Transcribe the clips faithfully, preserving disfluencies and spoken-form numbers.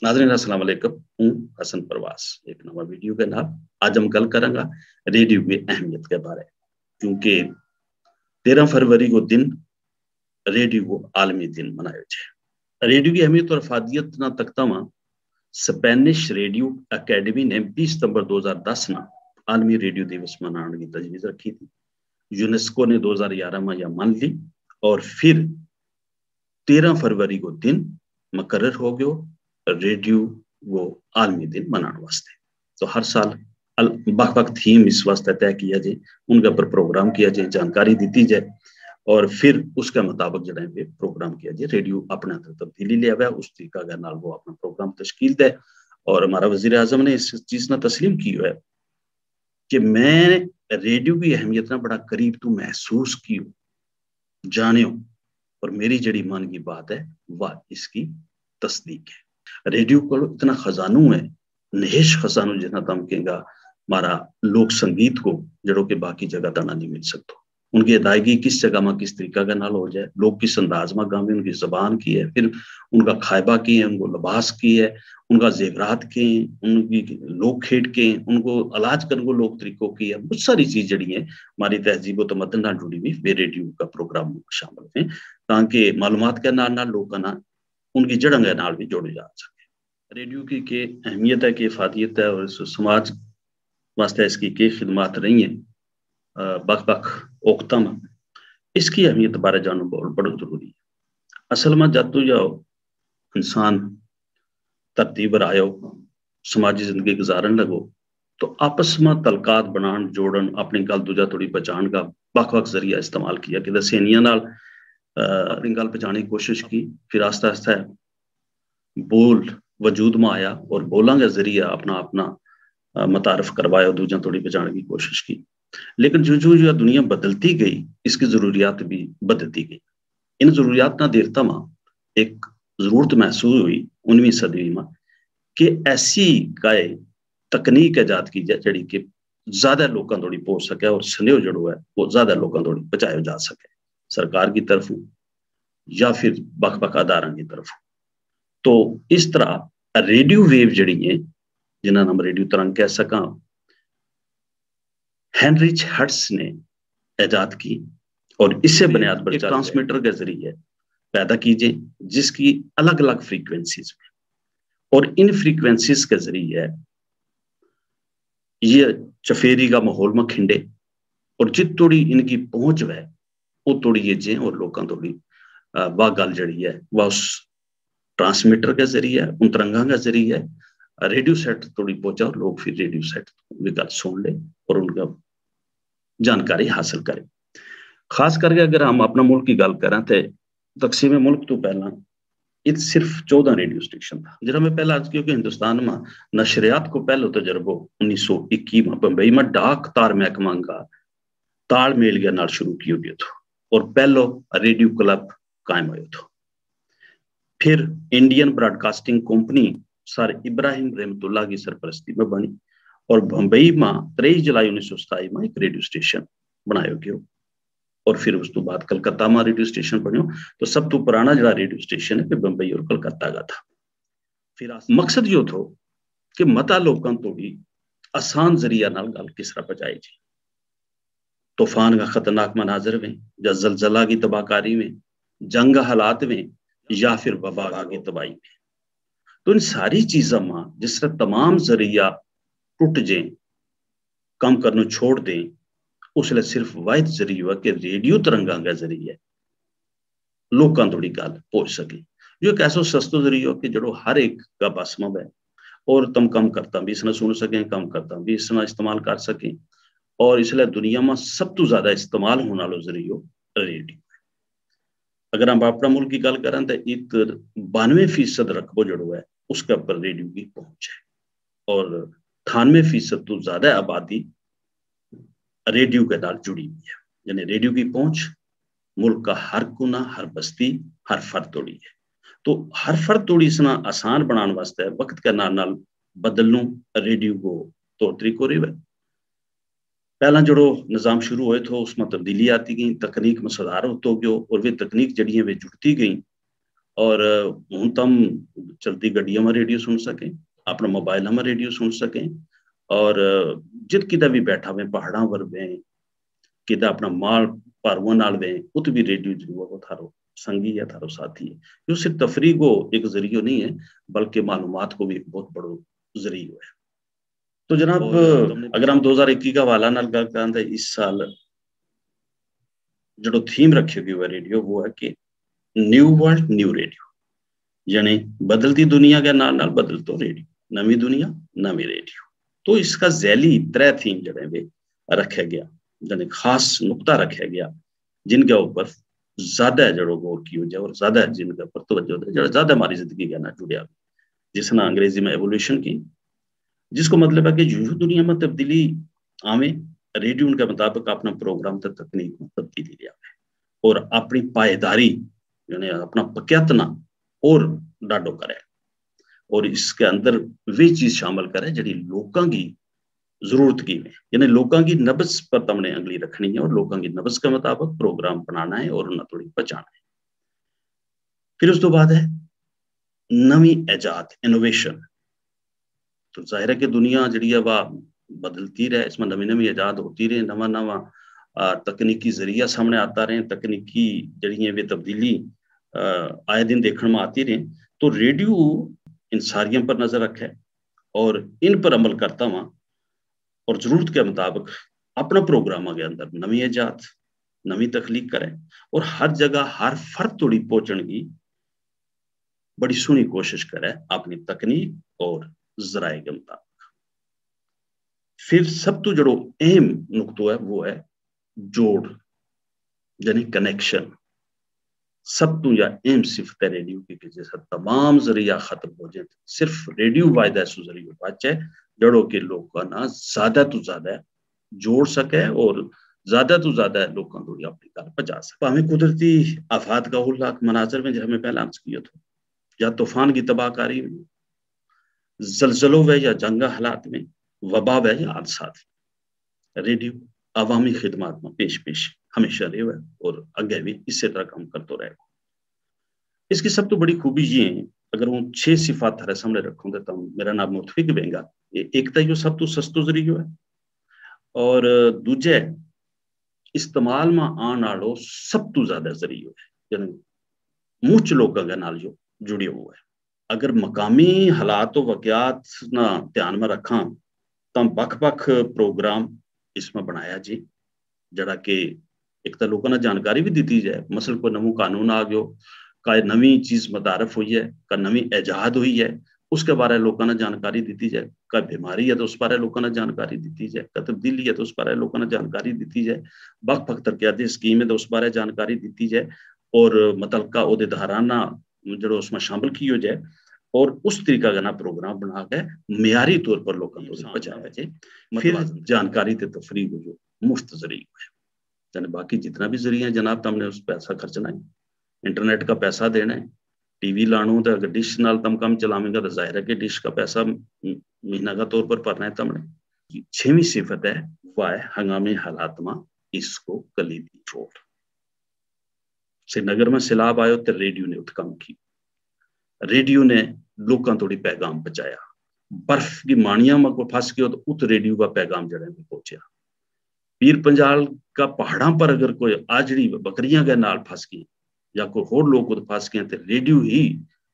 ناظرین السلام علیکم۔ ہوں حسن پرواز ایک نواں ویڈیو کے نال۔ اج ہم گل کراں گا ریڈیو کی اہمیت کے بارے، کیونکہ تیرہ فروری کو دن ریڈیو کو عالمی دن منایو جائے۔ ریڈیو کی اہمیت اور افادیت نا تکتا واں سپینش ریڈیو اکیڈمی نے بیس ستمبر دو ہزار دس نا عالمی ریڈیو دیوس منان کی تجویز رکھی تھی۔ یونیسکو نے دو ہزار گیارہ ما یا من لی، اور پھر تیرہ فروری کو دن مقرر ہو گیو ریڈیو کو عالمی دن منان واسطے۔ تو ہر سال بک بک تھیم اس واسطے طے کیا جائے، ان کے اپر پروگرام کیا جائے، جانکاری دیتی جائے، اور پھر اس کے مطابق جڑا ہے پروگرام کیا جائے۔ ریڈیو اپنے اندر تبدیلی لے آوے، اس طریقہ کے نال وہ اپنا پروگرام تشکیل دے۔ اور ہمارا وزیر اعظم نے اس چیز نا تسلیم کیو ہے کہ میں ریڈیو کی اہمیت نا بڑا قریب تو محسوس کیو، جانیو، اور میری جڑی من کی بات ہے، وہ اس کی تصدیق ہے۔ ریڈیو کو اتنا خزانو ہے، نہش خزانو جتنا تم کہیں گا ہمارا لوک سنگیت کو، جڑو کہ باقی جگہ تنا نہیں مل سکتو۔ ان کی ادائیگی کس جگہ ما کس طریقہ کے نال ہو جائے، لوگ کس انداز ما گاویں، ان کی زبان کی ہے، پھر ان کا کھائبہ کی ہے، ان کو لباس کی ہے، ان کا زیورات کے ہیں، ان کی لوک کھیڈ کے ہیں، ان کو علاج کرنے کو لوک طریقوں کی ہے، بہت ساری چیز جڑی ہیں ہماری تہذیب و تمدن نال جڑی ہوئی، ویہ ریڈیو کا پروگرام شامل ہیں، تاکہ معلومات کے نال نال لوکاں نا ان کی جڑاں کے نال بھی جوڑے جا سکے۔ ریڈیو کی کہ اہمیت ہے، کہ افادیت ہے، اور اس سماج واسطے اس کی کہ خدمات رہی ہیں بک بک اوقتاں ما، اس کی اہمیت بارے جانو بہت بڑو ضروری ہے۔ اصل ما جاتو جاؤ انسان ترتیب رہا ہو، سماجی زندگی گزارن لگو، تو آپس ما تعلقات بنان جوڑن، اپنی گل دوجا تھوڑی پہچان کا بک بک ذریعہ استعمال کیا کہ دسینیاں نال اپنی گل پہچانے کی کوشش کی۔ پھر آہستہ آہستہ بول وجود ما آیا، اور بولاں کے ذریعہ اپنا اپنا متعارف کروایا، دوجا تھوڑی پہچان کی کوشش کی۔ لیکن جو جو یہ دنیا بدلتی گئی، اس کی ضروریات بھی بدلتی گئی۔ ان ضروریات نا دیرتا ما ایک ضرورت محسوس ہوئی انویں صدی ما کہ ایسی کائے تکنیک ایجاد کی جائے جڑی کہ زیادہ لوکاں تھوڑی پہنچ سکے، اور سنیو جڑو ہے وہ زیادہ لوکاں تھوڑی پہنچایو جا سکے، سرکار کی طرف یا پھر بک بک اداراں کی طرف۔ تو اس طرح ریڈیو ویو جڑی ہیں، جنہاں نا ہم ریڈیو ترنگ کہہ سکاں، ہینریچ ہرٹس نے ایجاد کی، اور اسے بنیاد پر ٹرانسمیٹر کے ذریعے پیدا کیجے، جس کی الگ الگ فریکوینسیز میں، اور ان فریکوینسیز کے ذریعے یہ چفیری کا ماحول ما کھنڈے، اور جت توڑی ان کی پہنچ ہوئے، وہ توڑی یہ جیں اور لوکاں توڑی واہ گل جڑی ہے وہ اس ٹرانسمیٹر کے ذریعے، ان ترنگاں کے ذریعے ریڈیو سیٹ توڑی پہنچا، اور لوگ پھر ریڈیو سیٹ بھی گل سن لے اور ان کا جانکاری حاصل کرے۔ خاص کر کے اگر ہم اپنا ملک کی گل کریں تو تقسیم ملک تو پہلاں ات صرف چودہ ریڈیو اسٹیشن تھا۔ جڑا میں پہلا عرض کیو کہ ہندوستان ما نشریات کو پہلو تجربو انیس سو اکی ما بمبئی ما ڈاک تار محکمہ کا تال میل کے نال شروع کیو گیو تھو، اور پہلو ریڈیو کلب قائم ہویو تھو۔ پھر انڈین براڈ کاسٹنگ کمپنی سر ابراہیم رحمت اللہ کی سرپرستی میں بنی، اور بمبئی ما تریس جولائی انیس سو ستائی ما ایک ریڈیو اسٹیشن بنایو گیو، اور پھر اس تو بعد کلکتہ ما ریڈیو اسٹیشن بنیو۔ تو سب تو پرانا جڑا ریڈیو اسٹیشن ہے کہ بمبئی اور کلکتہ کا تھا۔ پھر مقصد یوہ تھو کہ متا لوکاں توڑی آسان ذریعہ نال گل کس طرح پہنچائی جی۔ طوفان کا خطرناک مناظر ویں، یا زلزلہ کی تباہ کاری ویں، جنگ کا حالات ویں، یا پھر وبا کی تباہی ویں، تو ان ساری چیزاں ما جس طرح تمام ذریعہ ٹوٹ جیں، کم کرنو چھوڑ دیں، اس لے صرف واحد ذریعہ ہوا کہ ریڈیو ترنگاں کا ذریعہ لوکاں توڑی گل پہنچ سکے۔ یوہ ایک ایسو سستو ذریعو کہ جڑو ہر ایک کا بس ما بے، اور تم کم کرتا بھی اس نا سن سکیں، کم کرتا بھی اس نا استعمال کر سکیں۔ اور اس لے دنیا ما سب تو زیادہ استعمال ہونا لو ذریعو ریڈیو ہے۔ اگر ہم اپنا ملک کی گل کریں تو ات بانوے فیصد رقبو جڑو ہے اس کے اپر ریڈیو کی پہنچ ہے، اور تھانوے فیصد تو زیادہ آبادی ریڈیو کے نال جڑی ہوئی ہے۔ یعنی ریڈیو کی پہنچ ملک کا ہر کونا، ہر بستی، ہر فرد توڑی ہے۔ تو ہر فرد توڑی اس نا آسان بنان واسطے وقت کے نال نال بدلنو ریڈیو کو طور طریقو رہیو ہے۔ پہلاں جڑو نظام شروع ہوئے تھو اس ما تبدیلی آتی گئی، تکنیک ما سدھار ہوتو گیو، اور ویہ تکنیک جڑی ہیں ویہ جڑتی گئی۔ اور ہوں تم چلتی گڈیاں ما ریڈیو سن سکیں، اپنا موبائل ما ریڈیو سن سکیں، اور جت کدا بھی بیٹھا ہوئے، پہاڑاں ور ہوئے، کدا اپنا مال پاروان نال ہوئے، ات بھی ریڈیو جو ہے وہ تھارو سنگی ہے، تھارو ساتھی ہے۔ یوہ صرف تفریح کو ایک ذریعو نہیں ہے، بلکہ معلومات کو بھی ایک بہت بڑو ذریعو ہے۔ تو جناب، اگر ہم دو ہزار اکی کا حوالہ نال گل کراں تو اس سال جڑو تھیم رکھیو گیو ہے ریڈیو، وہ ہے کہ نیو ورلڈ نیو ریڈیو، یعنی بدلتی دنیا کے نال نال بدلتو ریڈیو، نوی دنیا، نوی ریڈیو۔ تو اس کا ذیلی ترے تھیم جڑے وے رکھے گیا، یعنی خاص نقطہ رکھے گیا، جن کے اوپر زیادہ جڑو غور کیو جائے اور زیادہ جن کے اوپر توجہ دے، جڑا زیادہ ہماری زندگی کے نال جڑیا ہوئے، جس نا انگریزی میں ایوولوشن کی، جس کو مطلب ہے کہ یوہ دنیا میں تبدیلی آویں، ریڈیو ان کے مطابق اپنا پروگرام تے تکنیک میں تبدیلی لیا اور اپنی پائیداری، یعنی اپنا پکیاتنا اور ڈاڈو کرے، اور اس کے اندر وہی چیز شامل کرے جڑی لوکاں کی ضرورت کی میں، یعنی لوکاں کی نبض پر تم نے انگلی رکھنی ہے اور لوکاں کی نبض کے مطابق پروگرام بنانا ہے اور انہاں تھوڑی پہچانا ہے۔ پھر اس تو بعد ہے نوی ایجاد، انوویشن۔ تو ظاہر ہے کہ دنیا جڑی ہے وہ بدلتی رہے، اس میں نوی نوی ایجاد ہوتی رہے، نواں نواں تکنیکی ذریعہ سامنے آتا رہے، تکنیکی جڑی ہیں وہ تبدیلی آئے دن دیکھنے میں آتی رہے۔ تو ریڈیو ان ساریاں پر نظر رکھے اور ان پر عمل کرتا ہوا اور ضرورت کے مطابق اپنا پروگراماں کے اندر نوی ایجاد، نوی تخلیق کرے اور ہر جگہ ہر فرد توڑی پہنچن کی بڑی سوہنی کوشش کرے اپنی تکنیک اور ذرائع کے مطابق۔ پھر سب تو جڑو اہم نقطو ہے وہ ہے جوڑ، یعنی کنیکشن۔ سب تو یا اہم صفت ہے ریڈیو کی کہ جیسا تمام ذریعہ ختم ہو جائیں، صرف ریڈیو واحد ایسو ذریعہ بچ ہے جڑو کہ لوکاں نا زیادہ تو زیادہ جوڑ سکے اور زیادہ تو زیادہ لوکاں کو اپنی گل پہنچا سکے۔ ہمیں قدرتی آفات کا ہلاک مناظر میں جیسا میں پہلا عرض کیا تھا، یا طوفان کی تباہ کاری ہوئی، زلزلو وے یا جنگ حالات میں، وبا وے یا حادثات، ریڈیو عوامی خدمات میں پیش پیش ہمیشہ رہیو ہے اور اگے بھی اسی طرح کام کرتو رہے گا۔ اس کی سب تو بڑی خوبی یہ ہے، اگر ہوں چھ صفات تھارے سامنے رکھوں تو تم میرا نام متفق بینگا۔ ایک تو یہ سب تو سستو ذریعو ہے، اور دوجے استعمال ما آن آڑو سب تو زیادہ ذریعو ہے، یعنی مچ لوکاں کے نال جو جڑیو ہوا ہے۔ اگر مقامی حالات و واقعات نا دھیان ما رکھاں، تاں بکھ بکھ پروگرام اس ما بنایا جی، جڑا کہ ایک تاں لوکاں نا جانکاری بھی دتی جائے، مثلا کوئی نووں قانون آ گیو، کوئی نوی چیز متعارف ہوئی ہے، کوئی نوی ایجاد ہوئی ہے، اس کے بارے لوکاں نا جانکاری دتی جائے۔ کوئی بیماری ہے تو اس بارے لوکاں نا جانکاری دتی جائے، کوئی تبدیلی ہے تو اس بارے لوکاں نا جانکاری دتی جائے۔ بکھ بکھ ترقیاتی اسکیم ہے تو اس بارے جانکاری دتی جائے، اور متعلقہ عہدیداراں نا جڑو اس ما شامل کیو جائے، اور اس طریقہ کا نا پروگرام بنا کے معیاری طور پر لوکاں تک پہنچایا جائے۔ پھر جانکاری تے تفریح کو جو مفت ذریعہ ہے، یعنی باقی جتنا بھی ذریعہ ہے جناب، تم نے اس پیسہ خرچنا ہے، انٹرنیٹ کا پیسہ دینا ہے، ٹی وی لانو تو اگر ڈش نال تم کم چلاویں گا تو ظاہر ہے کہ ڈش کا پیسہ مہینہ کا طور پر پرنا ہے تم نے۔ چھویں صفت ہے، وہ ہے ہنگامی حالات ما اس کو کلیدی چھوڑ۔ سری نگر ما سیلاب آیو تے ریڈیو نے ات کم کی، ریڈیو نے لوکاں توڑی پیغام پہنچایا۔ برف کی مانیاں ما کوئی پھس گیو تو ات ریڈیو کا پیغام جڑے میں پہنچیا۔ پیر پنجال کا پہاڑاں پر اگر کوئی آجڑی بکریاں کے نال پھس گئی یا کوئی ہور لوگ ات پھس گئے تو ریڈیو ہی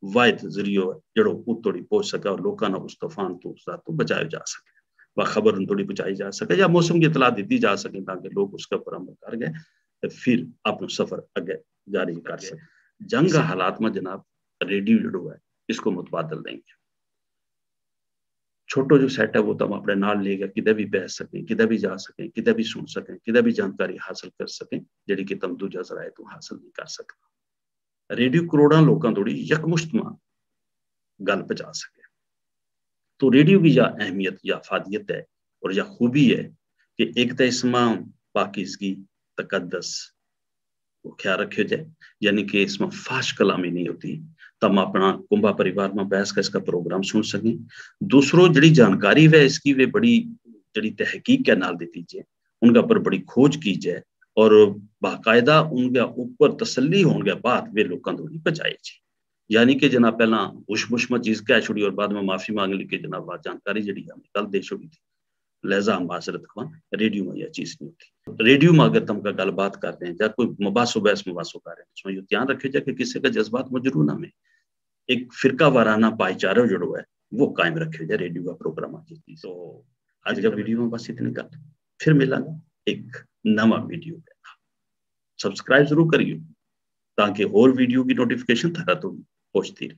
واحد ذریعو ہے جڑو ات توڑی پہنچ سکے اور لوکاں نا اس طوفان تو اس رات تو بچایو جا سکے، وہ خبر ان توڑی پہنچائی جا سکے یا موسم کی اطلاع دتی جا سکے تاکہ لوگ اس کے اوپر عمل کر گئے تو پھر اپنا سفر اگے جاری کر سکے۔ جنگ کا حالات ما جناب ریڈیو جڑو ہے، اس کو متبادل دیں گے۔ چھوٹو جو سیٹ ہے وہ تم اپنے نال لے گیا، کدے بھی بیس سکیں، کدے بھی جا سکیں، کدے بھی سن سکیں، کدے بھی جانکاری حاصل کر سکیں جڑی کہ تم دوجہ ذرائع تو حاصل نہیں کر سکتا۔ ریڈیو کروڑاں لوکاں توڑی یک مشت ما گل پہنچا سکے۔ تو ریڈیو کی یا اہمیت یا افادیت ہے اور یا خوبی ہے کہ ایک تو اس ما پاکیزگی، تقدس، وہ خیال رکھیو جائے، یعنی کہ اس ما فحش کلامی نہیں ہوتی۔ تم اپنا کنبا پریوار ما بیس کا اس کا پروگرام سن سکیں۔ دوسرو جڑی جانکاری وے اس کی وے بڑی جڑی تحقیق کے نال دیتی جائے، ان کا پر بڑی کھوج کی جائے اور باقاعدہ ان کے اوپر تسلی ہون کے بعد وے لوکاں توڑی پہنچائے جائے۔ یعنی کہ جناب پہلاں ہوش مش ما چیز کہہ چھوڑی اور بعد ما معافی مانگ لی کہ جناب آ جانکاری جیہڑی ہم نے گل دے چھوڑی تھی۔ لہذا ہم معذرت خواں، ریڈیو ما یا چیز نہیں ہوتی۔ ریڈیو ما اگر تم کا گل بات کر رہے ہیں یا کوئی مباحث و بحث مباحث و کر رہے ہیں، اس ما یوہ دھیان رکھیو جائے کہ کسے کا جذبات مجروح نہ ہوئے۔ ایک فرقہ وارانہ پائے چارو جیہڑو ہے، وہ قائم رکھیو جائے ریڈیو کا پروگرام کی۔ تو اج کا ویڈیو ما بس اتنی گل۔ پھر ملاں گا ایک نواں ویڈیو کے نال۔ سبسکرائب ضرور کریو، تاکہ ہور ویڈیو کی نوٹیفکیشن تھارا تو پہنچتی رہی۔